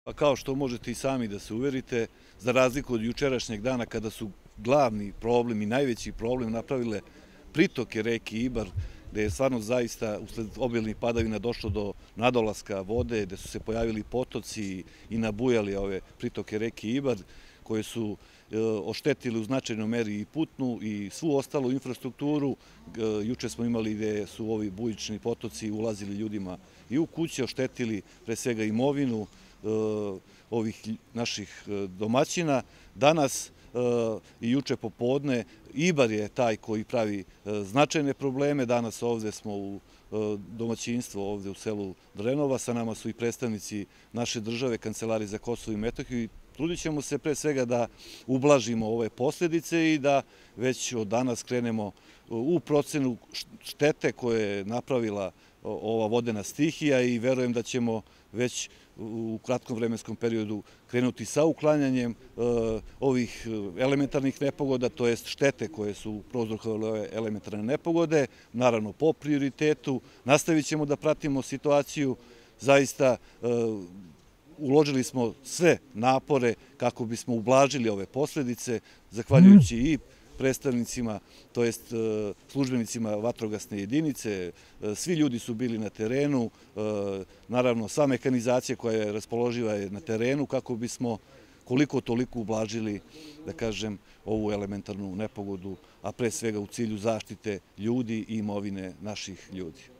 Pa kao što možete i sami da se uverite, za razliku od jučerašnjeg dana kada su glavni problem i najveći problem napravile pritoke reke Ibar, gde je stvarno zaista usled obilnih padavina došlo do nadolaska vode, gde su se pojavili potoci i nabujali ove pritoke reke Ibar, koje su oštetili u značajnoj meri i putnu i svu ostalu infrastrukturu. Juče smo imali gde su ovi bujični potoci ulazili ljudima i u kuće, oštetili pre svega imovinu ovih naših domaćina. Danas i juče popodne Ibar je taj koji pravi značajne probleme. Danas ovde smo u domaćinstvu ovde u selu Drenova. Sa nama su i predstavnici naše države, Kancelarije za Kosovo i Metohiju, i trudit ćemo se pre svega da ublažimo ove posledice i da već od danas krenemo u procenu štete koje je napravila ova vodena stihija i verujem da ćemo već u kratkom vremenskom periodu krenuti sa uklanjanjem ovih elementarnih nepogoda, to jest štete koje su prouzrokovale ove elementarne nepogode, naravno po prioritetu. Nastavit ćemo da pratimo situaciju, zaista uložili smo sve napore kako bismo ublažili ove posledice, zahvaljujući i predstavnicima, to jest službenicima vatrogasne jedinice. Svi ljudi su bili na terenu, naravno sva mehanizacija koja je raspoloživa je na terenu kako bismo koliko toliko ublažili, da kažem, ovu elementarnu nepogodu, a pre svega u cilju zaštite ljudi i imovine naših ljudi.